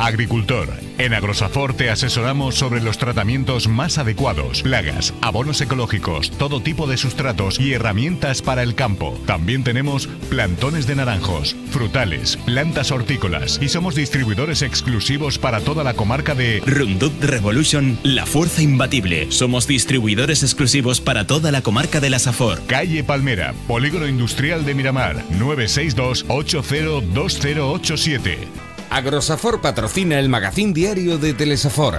Agricultor. En Agrosafor te asesoramos sobre los tratamientos más adecuados, plagas, abonos ecológicos, todo tipo de sustratos y herramientas para el campo. También tenemos plantones de naranjos, frutales, plantas hortícolas y somos distribuidores exclusivos para toda la comarca de Roundup Revolution, la fuerza imbatible. Somos distribuidores exclusivos para toda la comarca de la Safor. Calle Palmera, Polígono Industrial de Miramar, 962 802087. Agrosafor patrocina el magazín diario de Telesafor.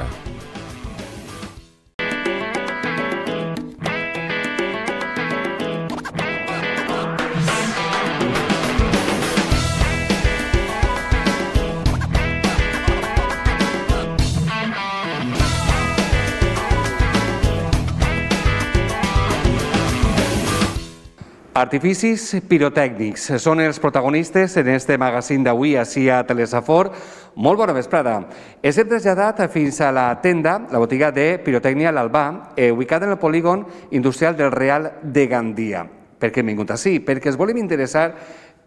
Artificis pirotècnics són els protagonistes en este magazín d'avui ací a Telesafor. Molt bona vesprada. Ens hem traslladat fins a la tenda, la botiga de pirotècnia L'Albà, ubicada en el polígon industrial del Real de Gandia. Per què hem vingut ací? Perquè ens volem interessar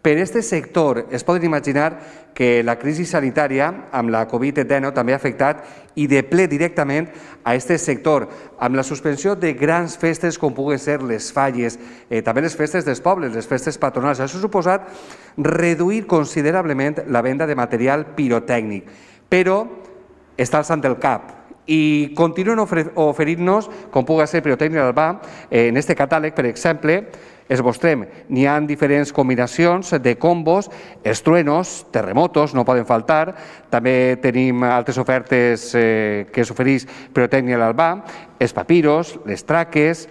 per aquest sector. Es poden imaginar que la crisi sanitària amb la Covid-19 també ha afectat i de ple directament a aquest sector, amb la suspensió de grans festes com puguen ser les falles, també les festes dels pobles, les festes patronals. Això ha suposat reduir considerablement la venda de material pirotècnic, però està alçant el cap i continuen oferint-nos, com pugui ser Pirotècnia L'Albà, en aquest catàleg, per exemple, es mostrem, n'hi ha diferents combinacions de combos, els truenos, terremotos, no poden faltar, també tenim altres ofertes que s'ofereix Pirotècnia L'Albà, els papiros, les traques,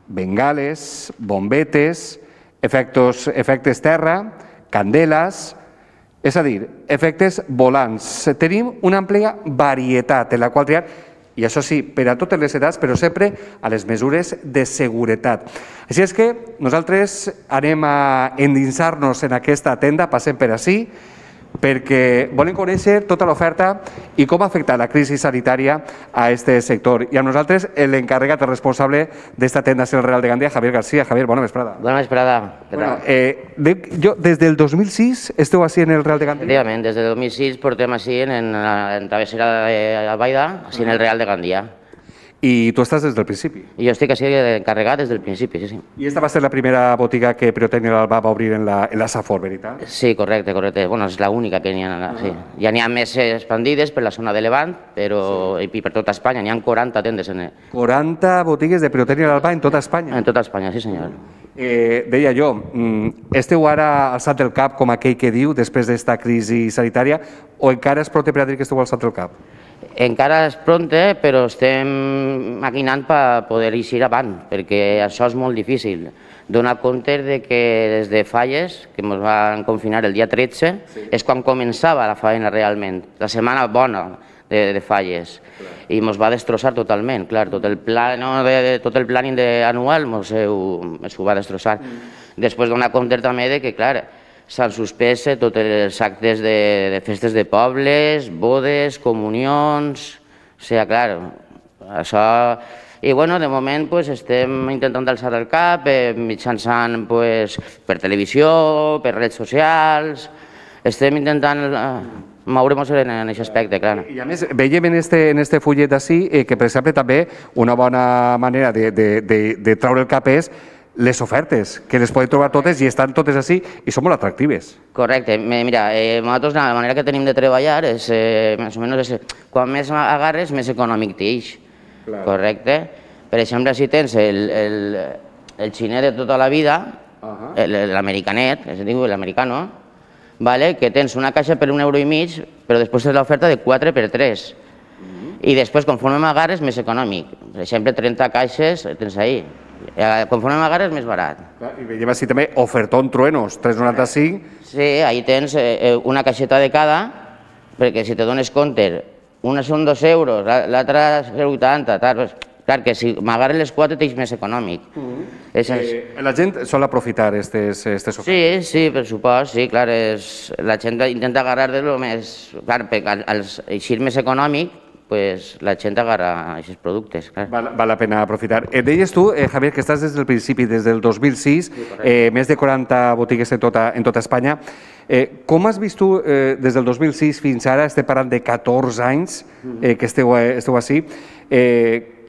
bengales, bombetes, efectes terra, candeles, és a dir, efectes volants. Tenim una àmplia varietat en la qual triar, i això sí, per a totes les edats, però sempre a les mesures de seguretat. Així és que nosaltres anem a endinsar-nos en aquesta tenda, passem per ací, perquè volem conèixer tota l'oferta i com ha afectat la crisi sanitària a aquest sector. I amb nosaltres l'encarregat, el responsable d'esta tenda del Real de Gandia, Javier García. Javier, bona vesprada. Bona vesprada. Des del 2006 esteu així en el Real de Gandia? Efectivament, des del 2006 portem així en travessera d'Albaida, així en el Real de Gandia. I tu estàs des del principi? I jo estic així encarregat des del principi, sí, sí. I esta va ser la primera botiga que Pirotècnia L'Albà va obrir en la Safor, veritat? Sí, correcte. Bueno, és l'única que n'hi ha, sí. Ja n'hi ha més expandides per la zona de Levant, però i per tota Espanya, n'hi ha 40 tendes. 40 botigues de Pirotècnia L'Albà en tota Espanya? En tota Espanya, sí senyor. Deia jo, esteu ara alçat el cap, com aquell que diu, després d'esta crisi sanitària, o encara és prote per a dir que esteu alçat el cap? Encara és pronte, però estem maquinant per poder eixir avant, perquè això és molt difícil. Donar compte que des de falles, que ens van confinar el dia 13, és quan començava la feina realment, la setmana bona de falles, i ens va destrossar totalment, clar, tot el planning anual ens ho va destrossar. Després donar compte també que, clar, s'han suspès tots els actes de festes de pobles, bodes, comunions... O sigui, clar, això... I, bueno, de moment estem intentant alçar el cap mitjançant per televisió, per redes socials... Estem intentant moure'ns en aquest aspecte, clar. I, a més, veiem en este fullet ací que, per exemple, també una bona manera de treure el cap és les ofertes, que les podem trobar totes i estan totes així i són molt atractives. Correcte. Mira, nosaltres la manera que tenim de treballar és, més o menys, quan més agarres, més econòmic t'eix. Correcte? Per exemple, si tens el xinet de tota la vida, l'americanet, que es diu l'americano, que tens una caixa per €1,5, però després tens l'oferta de 4 per 3. I després, conforme m'agarres, més econòmic. Per exemple, 30 caixes tens ahí. Conforme m'agarres, més barat. I veiem així també ofertón truenos, 3,95. Sí, ahí tens una caixeta de cada, perquè si te dones compte, una són €2, l'altra és 80, tal. Clar, que si m'agarren les 4 t'eix més econòmic. La gent sol aprofitar aquestes ofertes? Sí, sí, per supost, sí, clar. La gent intenta agarrar de lo més... Clar, al eixir més econòmic, pues, la gent agarra aquests productes. Clar. Val la pena aprofitar. Deies tu, Javier, que estàs des del principi, des del 2006, més de 40 botigues en tota Espanya. Com has vist tu, des del 2006 fins ara, estem parlant de 14 anys que esteu així,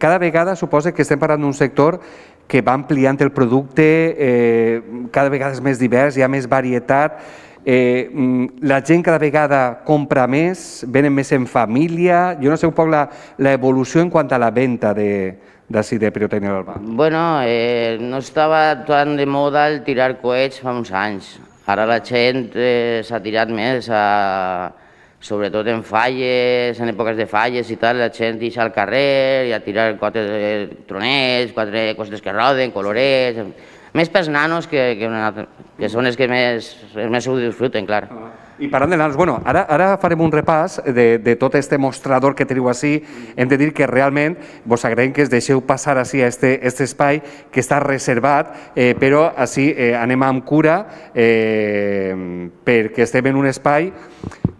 cada vegada suposa que estem parlant d'un sector que va ampliant el producte, cada vegada és més divers, hi ha més varietat, la gent cada vegada compra més, venen més en família, jo no sé un poc l'evolució en quant a la venda d'ací de Pirotècnia l'Albà. Bueno, no estava tan de moda el tirar coets fa uns anys. Ara la gent s'ha tirat més, sobretot en falles, en èpoques de falles i tal, la gent deixa al carrer i a tirar quatre tronets, quatre coses que roden, colorets, més pels nanos que són els que més ho disfruten, clar. I parlant de nanos, bueno, ara farem un repàs de tot este mostrador que teniu així. Hem de dir que realment vos agraïm que es deixeu passar així a aquest espai que està reservat, però així anem amb cura perquè estem en un espai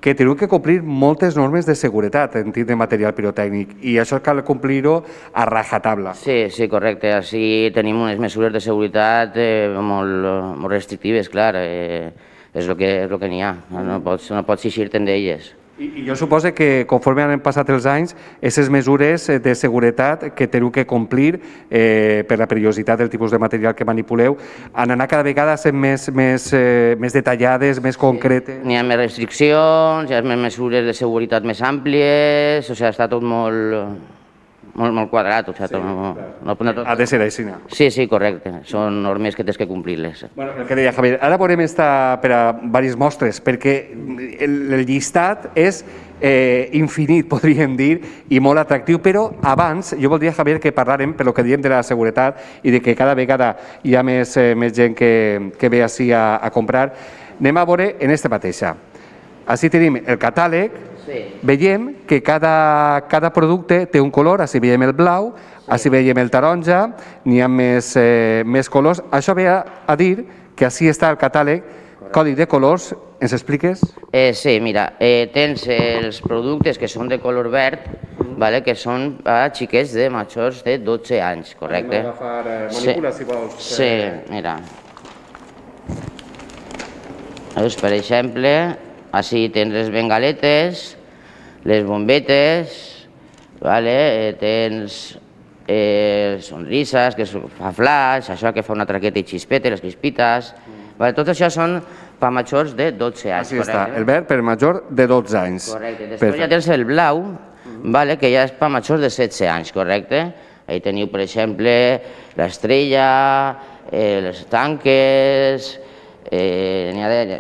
que teniu que complir moltes normes de seguretat en tindre material pirotècnic i això cal complir-ho a rajatabla. Sí, correcte. Així tenim unes mesures de seguretat molt restrictives, clar. És el que n'hi ha, no pots eixir-te'n d'elles. I jo suposo que conforme han passat els anys, aquestes mesures de seguretat que teniu que complir per la perillositat del tipus de material que manipuleu han anat cada vegada sent més detallades, més concretes. N'hi ha més restriccions, hi ha més mesures de seguretat més àmplies, o sigui, està tot molt quadrat, o sigui, ha de ser així. Sí, correcte, són normes que tens que complir-les. El que deia Javier, ara veurem per a diverses mostres, perquè el llistat és infinit, podríem dir, i molt atractiu, però abans jo voldria, Javier, que parlàrem, per lo que diem de la seguretat i de que cada vegada hi ha més gent que ve així a comprar, anem a veure en aquesta mateixa. Així tenim el catàleg. Veiem que cada producte té un color, així veiem el blau, així veiem el taronja, n'hi ha més colors. Això ve a dir que així està el catàleg, codi de colors, ens expliques? Sí, mira, tens els productes que són de color verd, que són a xiquets de majors de 12 anys, correcte? Anem a agafar manipula, si vols. Sí, mira. Per exemple, així tens les bengaletes, les bombetes, tens sonrises, que fa flash, això que fa una traqueta i xispeta, les crispites. Tot això són per majors de 12 anys. Així està, el verd per major de 12 anys. Correcte. Després ja tens el blau, que ja és per majors de 16 anys, correcte? Ahí teniu, per exemple, l'estrella, les tanques...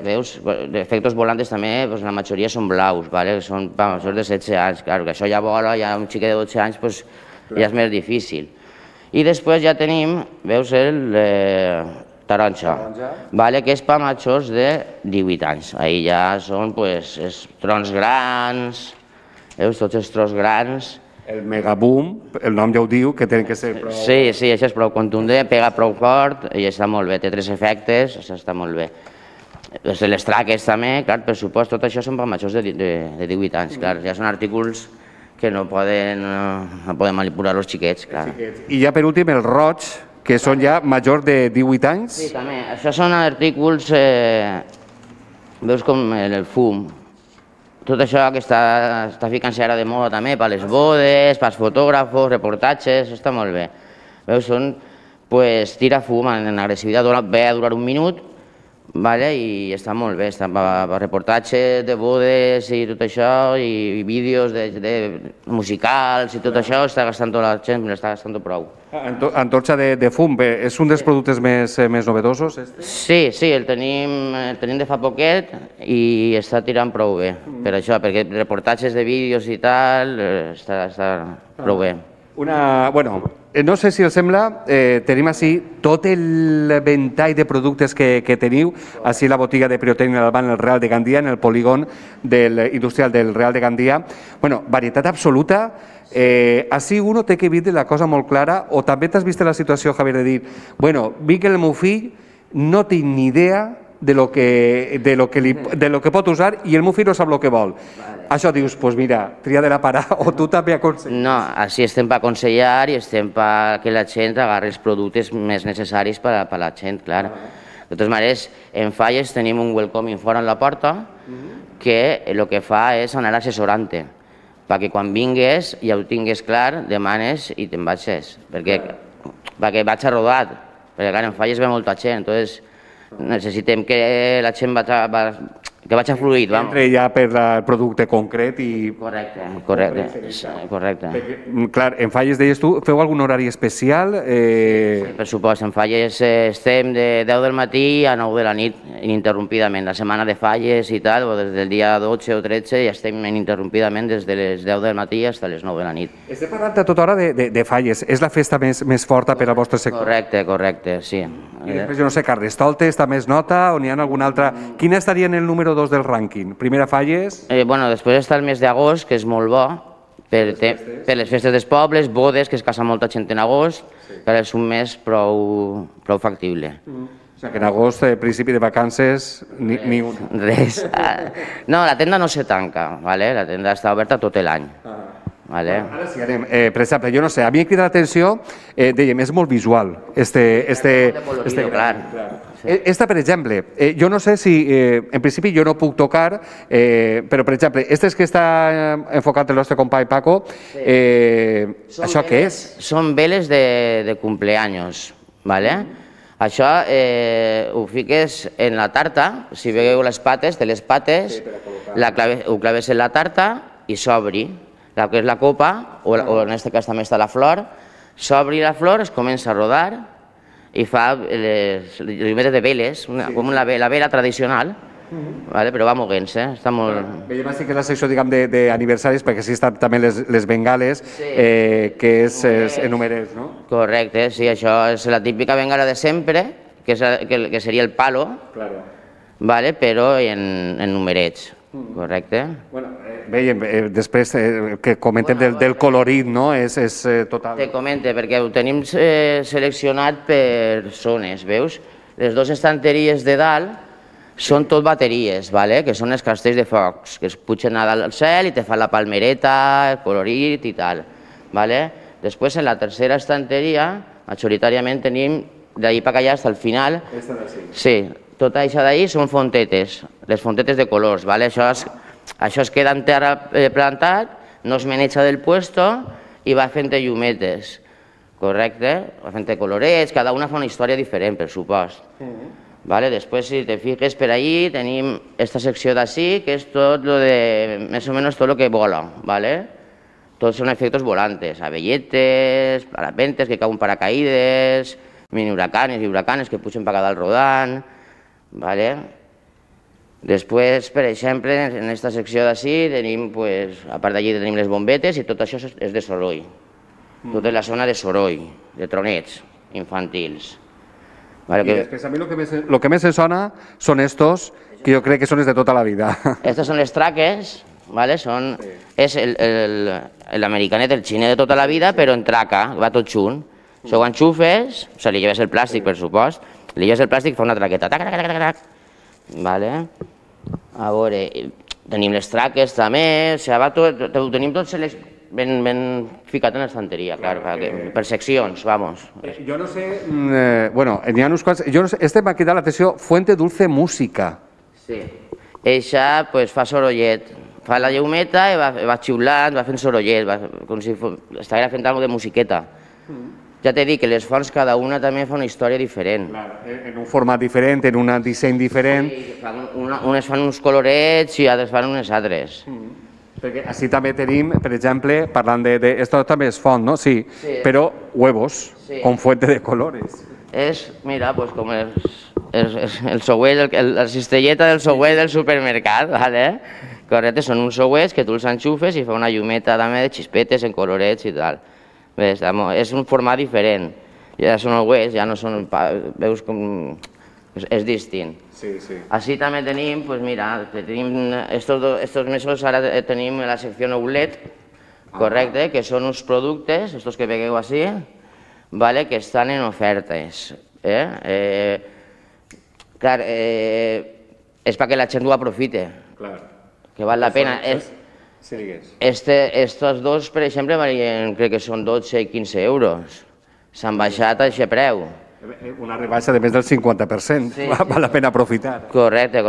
veus, efectes volantes també, la majoria són blaus, són per majors de 16 anys, que això ja vola, ja un xiquet de 12 anys ja és més difícil. I després ja tenim, veus, el taronja, que és per majors de 18 anys. Ahí ja són els trons grans, veus, tots els trons grans. El megaboom, el nom ja ho diu, que tenen que ser prou... Sí, això és prou contundent, pega prou fort i està molt bé, té 3 efectes, això està molt bé. Les traques també, clar, per supost, tot això són per majors de 18 anys, clar, ja són artículos que no poden manipular els xiquets, clar. I ja per últim el roig, que són ja majors de 18 anys? Sí, també, això són artículos, veus com el fum, tot això que està ficant-se ara de moda també per les bodes, pels fotògrafos, reportatges, està molt bé. Veus, són, tira fum en agressivitat, ve a durar un minut i està molt bé, està per reportatges de bodes i tot això, i vídeos musicals i tot això, està gastant la gent, està gastant prou. Antorxa de fum, és un dels productes més novedosos? Sí, el tenim de fa poquet i està tirant prou bé, per això, perquè reportatges de vídeos i tal, està prou bé. Bueno, no sé si els sembla, tenim així tot el ventall de productes que teniu, així la botiga de Pirotècnia l'Albà en el Real de Gandia, en el polígon industrial del Real de Gandia. Bueno, varietat absoluta. Així uno té que veure la cosa molt clara, o també t'has vist la situació, Javier, de dir, bueno, vinc el meu fill, no tinc ni idea de lo que pot usar i el meu fill no sap el que vol. Això dius, doncs mira, tria de la parar o tu també aconselles. No, així estem per aconsellar i estem perquè la gent agarri els productes més necessaris per a la gent, clar. De totes maneres, en Falles tenim un welcoming fora en la porta que el que fa és anar assessorant-te, perquè quan vingues ja ho tingues clar, demanes i te'n vagis, perquè vaig a rodat, perquè clar, en Falles ve molta gent, entonces necessitem que la gent que vagi fluid. Entre ja per el producte concret i... Correcte. Clar, en Falles, deies tu, feu algun horari especial? Per supost, en Falles estem de 10 del matí a 9 de la nit, ininterrompidament. La setmana de Falles i tal, o des del dia 12 o 13, ja estem ininterrompidament des de les 10 del matí fins a les 9 de la nit. Estem parlant a tota hora de Falles. És la festa més forta per al vostre sector? Correcte, sí. I després, jo no sé, Carnestoltes també es nota o n'hi ha alguna altra? Quina estaria en el número 2 del rànquing? Primera Falles? Bueno, després està el mes d'agost, que és molt bo, per les festes dels pobles, bodes, que es casa molta gent en agost, que és un mes prou factible. O sigui que en agost, principi de vacances, ni un. Res. No, la tenda no se tanca, la tenda està oberta tot l'any. Ara sí, anem. Per exemple, jo no sé, a mi em crida l'atenció, dèiem, és molt visual, Esta, per exemple, jo no sé si, en principi jo no puc tocar, però, per exemple, este que està enfocat el nostre company Paco, això què és? Són veles de cumpleaños, ¿vale? Això ho fiques en la tarta, si veieu les pates, de les pates, ho claves en la tarta i s'obri. El que és la copa, o en aquest cas també està la flor, s'obri la flor, es comença a rodar i fa les llumetes de veles, com la vela tradicional, però va moguent-se, està molt... Veiem així que és la secció, diguem, d'aniversaris, perquè així estan també les bengales, que és numerets, no? Correcte, sí, això és la típica bengala de sempre, que seria el palo, però en numerets. Correcte. Veiem, després que comentem del colorit, no? És total... Te comente, perquè ho tenim seleccionat per zones, veus? Les dues estanteries de dalt són tot bateries, que són els castells de focs, que es pugen a dalt al cel i te fan la palmereta, el colorit i tal. Després, en la tercera estanteria, majoritàriament tenim d'ahir per allà fins al final. Aquesta d'ací. Sí. Tot això d'ahir són fontetes, les fontetes de colors. Això es queda en terra plantat, no es maneja del puesto i va fent llumetes. Correcte? Va fent colorets, cada una fa una història diferent, per supost. Després, si te fiques per ahí, tenim aquesta secció d'ací, que és tot lo de, més o menys tot el que vola. Tots són efectes volantes, abelletes, parapentes que cauen paracaïdes, mini huracanes i huracanes que pugen per cada dalt rodant. Després, per exemple, en aquesta secció d'ací, a part d'allí tenim les bombetes i tot això és de soroll. Tota la zona de soroll, de tronets infantils. I després a mi el que més em sona són estos, que jo crec que són els de tota la vida. Estos són les traques, és l'americanet, el xiner de tota la vida, però en traca, va tot junt. Si ho enxufes, li lleves el plàstic, per supost, li lleves el plàstic i fa una traqueta. A veure, tenim les traques també, ho tenim tot ben ficat en l'estanteria, per seccions, vamos. Jo no sé, n'hi ha uns quants, este m'ha cridat l'atenció, Fuente Dulce Música. Sí, eixa fa sorollet, fa la llumeta i va xiulant, va fent sorollet, com si estigués fent alguna cosa de musiqueta. Ja t'he dit que les fonts, cada una també fa una història diferent. En un format diferent, en un disseny diferent. Unes fan uns colorets i altres fan unes altres. Perquè així també tenim, per exemple, parlant de... Esto també és font, no? Sí, però huevos, con fuente de colores. És, mira, com el souet, la cistelleta del souet del supermercat, correcte? Són uns souets que tu els enxufes i fa una llumeta també de xispetes en colorets i tal. És un format diferent, ja són els ja no són, veus com és distint. Així també tenim, mira, estos mesos ara tenim la secció outlet, correcte, que són uns productes, estos que veieu així, que estan en ofertes. Clar, és perquè la gent ho aprofite, que val la pena. Estos dos, per exemple, crec que són 12 i 15 euros. S'han baixat a aquest preu. Una rebaixa de més del 50%, val la pena aprofitar. Correcte,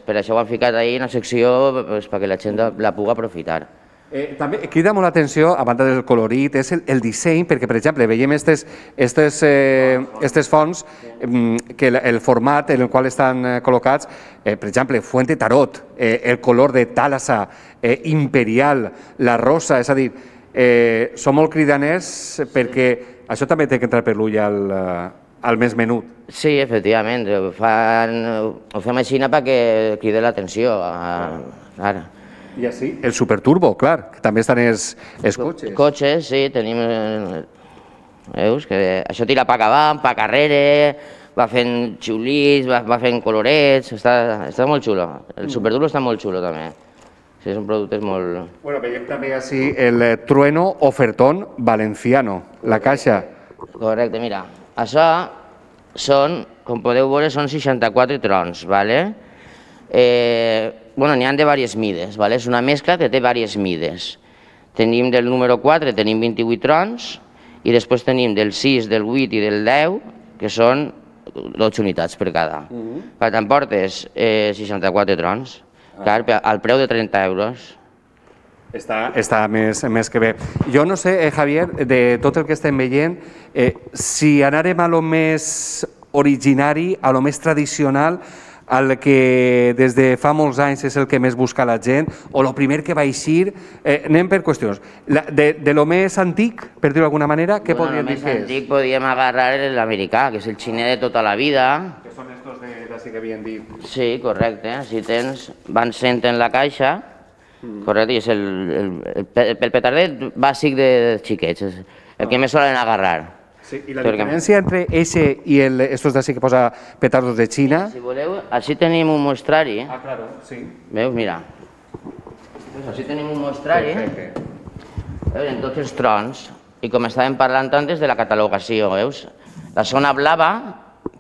per això ho han ficat ahir en la secció, perquè la gent la pugui aprofitar. També crida molt l'atenció, a banda del colorit, és el disseny, perquè, per exemple, veiem aquestes fonts, que el format en el qual estan col·locats, per exemple, Fuente Tarot, el color de Thalassa, Imperial, la rosa, és a dir, són molt cridaners perquè això també té que entrar per l'ull al més menut. Sí, efectivament, ho fem així perquè crida l'atenció. I així, el Superturbo, clar, que també estan els cotxes. Cotxes, sí, tenim... Veus? Que això tira pa avant, pa carrere, va fent xulits, va fent colorets, està molt xulo. El Superturbo està molt xulo, també. Sí, són productes molt... Bueno, veiem també així el Trueno Ofertón Valenciano, la caixa. Correcte, mira, això són, com podeu veure, són 64 trons, ¿vale? Bueno, n'hi ha de diverses mides, ¿vale? És una mescla que té diverses mides. Tenim del número 4, tenim 28 trons, i després tenim del 6, del 8 i del 10, que són 12 unitats per cada. T'emportes 64 trons, clar, al preu de 30 euros. Està més que bé. Jo no sé, Javier, de tot el que estem veient, si anarem a lo més originari, a lo més tradicional, al que des de fa molts anys és el que més busca la gent, o el primer que va eixir, anem per qüestions. De lo més antic, per dir-ho d'alguna manera, què podríem dir que és? El més antic podríem agarrar l'americà, que és el xiner de tota la vida. Que són estos d'ací que havien dit. Sí, correcte. Si tens, van sent en la caixa, correcte, i és el petardet bàsic de xiquets, el que més solen agarrar. I la diferència entre eixe i estos d'ací que posa petardos de Xina? Si voleu, així tenim un mostrari. Ah, claro, sí. Veus, mira. Així tenim un mostrari en tots els trons, i com estàvem parlant antes de la catalogació, veus? La zona blava,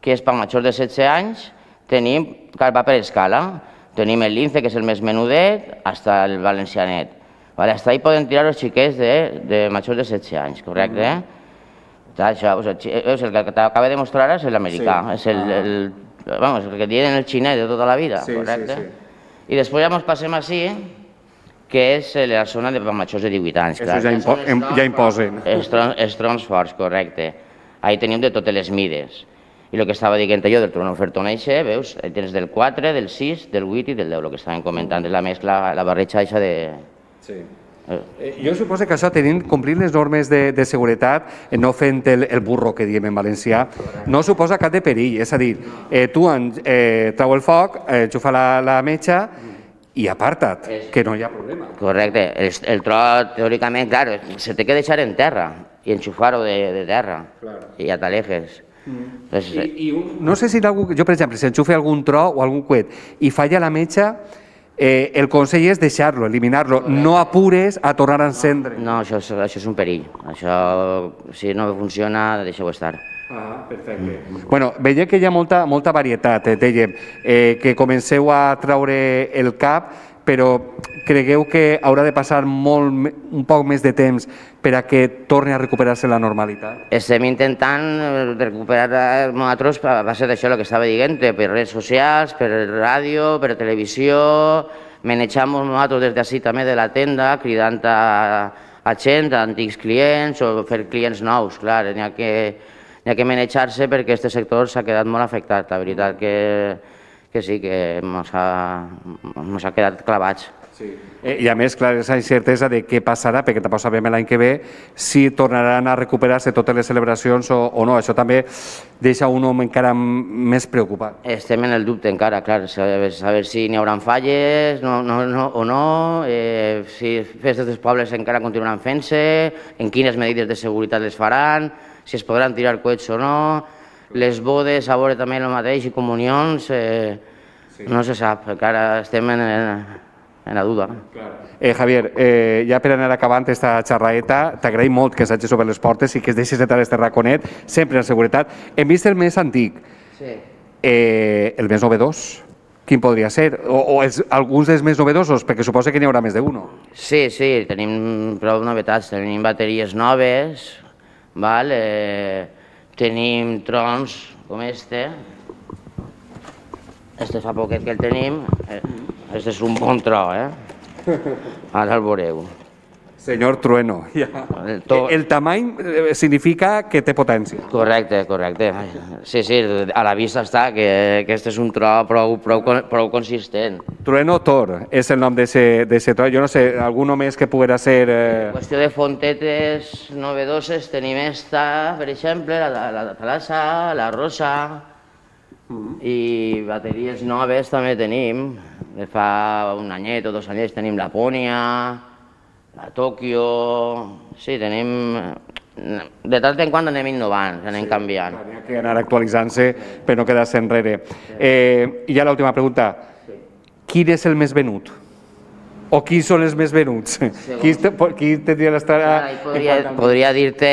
que és per majors de 16 anys, tenim, va per escala. Tenim el lince, que és el més menudet, fins al valencianet. Fins ahí poden tirar els xiquets de majors de 16 anys, correcte? El que t'acaba de mostrar ara és l'americà, és el que diuen el xinès de tota la vida, correcte? I després ja ens passem així, que és la zona de majors de 18 anys. Això ja imposen. Els trons forts, correcte. Ahí tenim de totes les mides. I el que estava dient jo del Trueno Ofertón eixe, veus, tens del 4, del 6, del 8 i del 10, el que estàvem comentant, és la mescla, la barreja eixa de... Sí. Jo suposo que això, tenint complint les normes de seguretat, no fent el burro que diem en valencià, no suposa cap de perill. És a dir, tu trau el foc, enxufa la metxa i aparta't, que no hi ha problema. Correcte. El tro, teòricament, clar, se té que deixar en terra i enxufar-ho de terra. I ja t'alejes. No sé si jo, per exemple, si enxufe algun tro o algun coet i falla la metxa, el consell és deixar-lo, eliminar-lo, no apures a tornar a encendre. No, això és un perill. Això, si no funciona, deixeu estar. Ah, perfecte. Bueno, veiem que hi ha molta varietat, dèiem, que comenceu a traure el cap, però cregueu que haurà de passar un poc més de temps per a que torni a recuperar-se la normalitat? Estem intentant recuperar nosaltres a base d'això, el que estava dient, per redes socials, per ràdio, per televisió, manejam nosaltres des d'ací també de la tenda, cridant a gent, a antics clients o fer clients nous, clar, n'hi ha que manejar-se perquè aquest sector s'ha quedat molt afectat, la veritat que sí, que ens ha quedat clavats. I a més, clar, aquesta incertesa de què passarà, perquè tampoc sabem l'any que ve, si tornaran a recuperar-se totes les celebracions o no. Això també deixa un home encara més preocupat. Estem en el dubte encara, clar, saber si n'hi haurà falles o no, si festes dels pobles encara continuaran fent-se, en quines medides de seguretat les faran, si es podran tirar coets o no, les bodes, a veure també el mateix, i comunions, no se sap, encara estem en la duda. Javier, ja per anar acabant aquesta xerraeta, t'agraïm molt que s'hagi obert les portes i que es deixis entrar este raconet, sempre en seguretat. Hem vist el més antic. El més novedós, quin podria ser? O alguns dels més novedosos, perquè suposo que n'hi haurà més d'un. Sí, tenim prou novetats. Tenim bateries noves, tenim trons com este. Este fa poquet que el tenim. Este és un bon tro, Ara el veureu. Senyor Trueno. El tamany significa que té potència. Correcte. Sí, a la vista està que aquest és un tro prou consistent. Trueno Tor és el nom d'aquest tro. Jo no sé, algun més que poguera ser... En qüestió de fontetes novedoses tenim esta, per exemple, la Talassa, la Rosa, i bateries noves també tenim. De fa un anyet o 2 anyets tenim la Pònia, la Tòquio... Sí, tenim... De tant en quant anem innovant, anem canviant. Hi ha que anar actualitzant-se per no quedar-se enrere. I ja l'última pregunta. Quin és el més venut? O qui són els més venuts? Qui tindria l'estar... Podria dir-te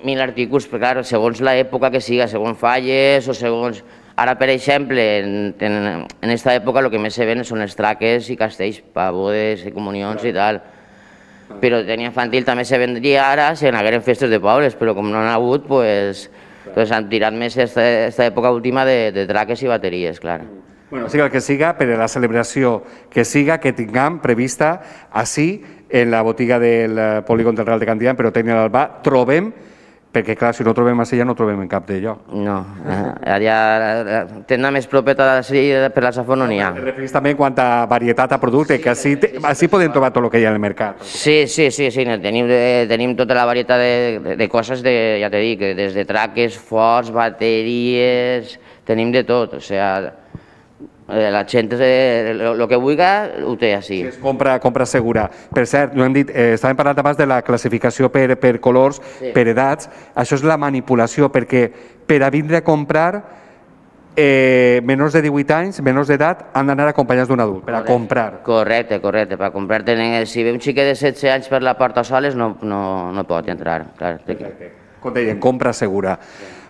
1000 articles, però clar, segons l'època que siga, segons falles o segons... Ara, per exemple, en aquesta època el que més se ven són els traques i castells, per bodes i comunions i tal. Però de tenia infantil també se vendria ara si n'hagueren festes de pobles, però com no n'ha hagut, doncs han tirat més aquesta època última de traques i bateries, clar. Bueno, siga el que siga, per a la celebració que siga, que tinguem prevista així, en la botiga del polígon del Real de Gandia, però Pirotècnia l'Albà, trobem, perquè clar, si no trobem a Sella no trobem en cap de lloc. No, tenda més propeta per la Safor no n'hi ha. Te referís també en quant a varietat a producte, que així podem trobar tot el que hi ha al mercat. Sí, tenim tota la varietat de coses, ja t'he dit, des de traques, forts, bateries, tenim de tot, o sigui... La gent, el que vulgui, ho té així. És compra segura. Per cert, no hem dit, estàvem parlant abans de la classificació per colors, per edats. Això és la manipulació, perquè per a vindre a comprar, menors de 18 anys, menors d'edat, han d'anar acompanyats d'un adult, per a comprar. Correcte, per a comprar. Si ve un xiquet de 16 anys per la porta soles, no pot entrar. Com deien, compra segura.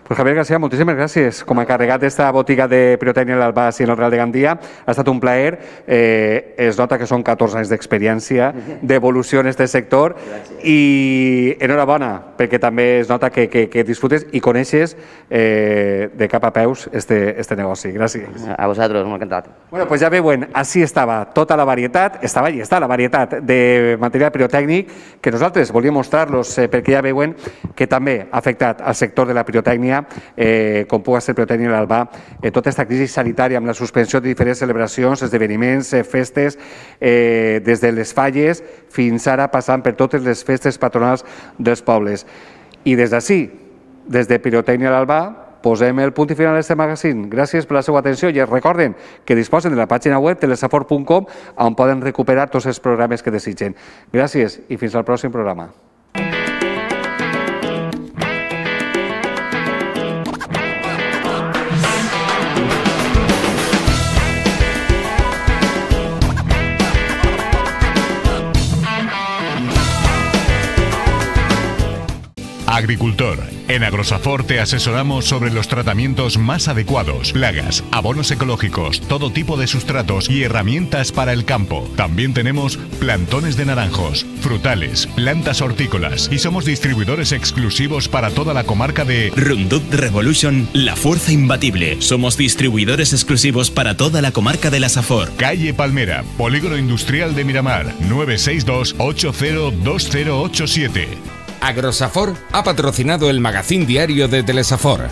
Pues Javier García, moltíssimes gràcies. Com a encarregat d'esta botiga de Pirotècnia l'Albà i el Real de Gandia, ha estat un plaer. Es nota que són 14 anys d'experiència, d'evolució en aquest sector, i enhorabona, perquè també es nota que disfrutes i coneixes de cap a peus este negoci. Gràcies. A vosaltres, molt encantat. Bueno, pues ja veuen, així estava tota la varietat, estava i està la varietat de material pirotècnic que nosaltres volíem mostrar-los, perquè ja veuen que també ha afectat al sector de la pirotècnia, com pugui ser Pirotècnia l'Albà, tota aquesta crisi sanitària amb la suspensió de diferents celebracions, esdeveniments, festes, des de les falles fins ara passant per totes les festes patronals dels pobles. I des d'ací, des de Pirotècnia l'Albà, posem el punt i final d'aquest magazín. Gràcies per la seva atenció i recorden que disposen de la pàgina web telesafor.com on poden recuperar tots els programes que desitgen. Gràcies i fins al pròxim programa. Agricultor. En Agrosafor te asesoramos sobre los tratamientos más adecuados, plagas, abonos ecológicos, todo tipo de sustratos y herramientas para el campo. También tenemos plantones de naranjos, frutales, plantas hortícolas y somos distribuidores exclusivos para toda la comarca de Roundup Revolution, la fuerza imbatible. Somos distribuidores exclusivos para toda la comarca de la Safor. Calle Palmera, Polígono Industrial de Miramar, 962 802087. Agrosafor ha patrocinado el magazín diario de Telesafor.